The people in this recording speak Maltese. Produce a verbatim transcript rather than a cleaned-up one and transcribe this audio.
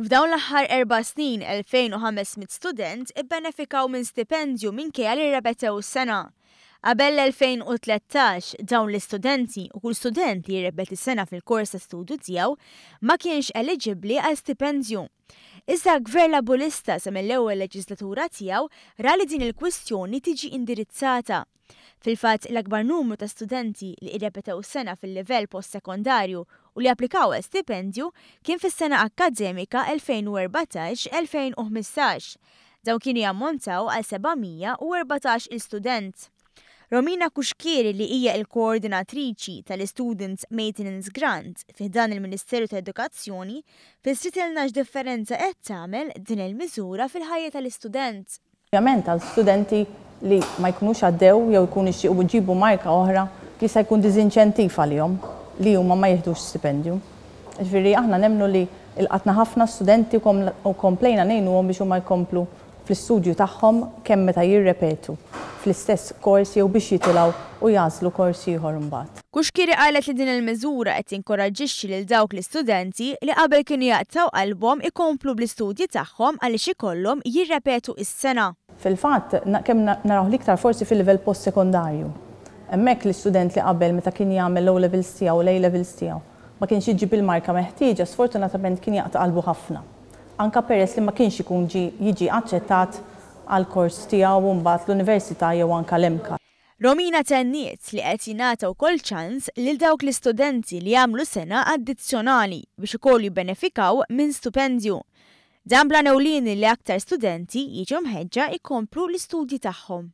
F'dawn l-aħħar erba' snin, elfejn u ħames mitt student ibbenefikaw minn stipendju minkejja li rrepetew sena. Qabel l-elfejn u tlettax, dawn l-istudenti u kull student li jirrepeti sena fil-kors ta' studju tiegħu ma kienx eliġibbli għal stipendju. Iżda Gvern Laburista sa mill-ewwel leġislatura tiegħu ra li din il-kwistjoni tiġi indirizzata. Fil-fatt, l-akbar numru ta' studenti li irrepetew sena fil-livell post-sekondarju u li applikaw għal stipendju kien fis-sena akkademika elfejn u erbatax elfejn u ħmistax. Dawn kienu jammontaw għal seba' mija u erbatax il-student. Romina Cuschieri, li hija il-koordinatriċi tal-Students Maintenance Grant fi dan il-Ministeru tal-Edukazzjoni, fissritilna x'differenza qed tagħmel din il-miżura fil-ħajja tal-istudent. Ovvjament għal studenti li ma jkunux għaddew jew jkunu jixtiequ jġibu marka oħra, jista' jkun diżinċentiv għalihom li huma ma jieħdux stipendju. Ġifieri aħna nemmnu li lqatna ħafna studenti u kom-, u komplejna ngħinuhom biex huma jkomplu fl-istudju tagħhom kemm meta jirrepetu fl-istess kors jew biex jitilgħu u jagħżlu kors ieħor imbagħad. Cuschieri qalet li din il-miżura qed tinkoraġġixxi lil dawk l-istudenti li qabel kienu jaqtgħu qalbhom ikomplu bl-istudji tagħhom għaliex ikollhom jirrepetu s-sena. Fil-fatt, na-, kemm na-, naraw l-iktar forsi fil-livell post-sekondarju. Hemmhekk l-istudent li qabel meta kien jagħmel l-O levels tiegħu u l-A levels tiegħu ma kienx jiġi bil-marka meħtieġa, sfortunatament kien jaqta' qalbu ħafna. Anka peress li ma kienx ikun ġi-, jiġi aċċettat għal kors tiegħu u mbagħad l-università jew anka l-M C A. Romina tenniet li qed jingħata wkoll ċans lil dawk l-istudenti li jagħmlu sena addizzjonali biex ukoll jibbenefikaw minn stipendju. Dan bla newlini li aktar studenti jiġu mħeġġa jkomplu l-istudji tagħhom.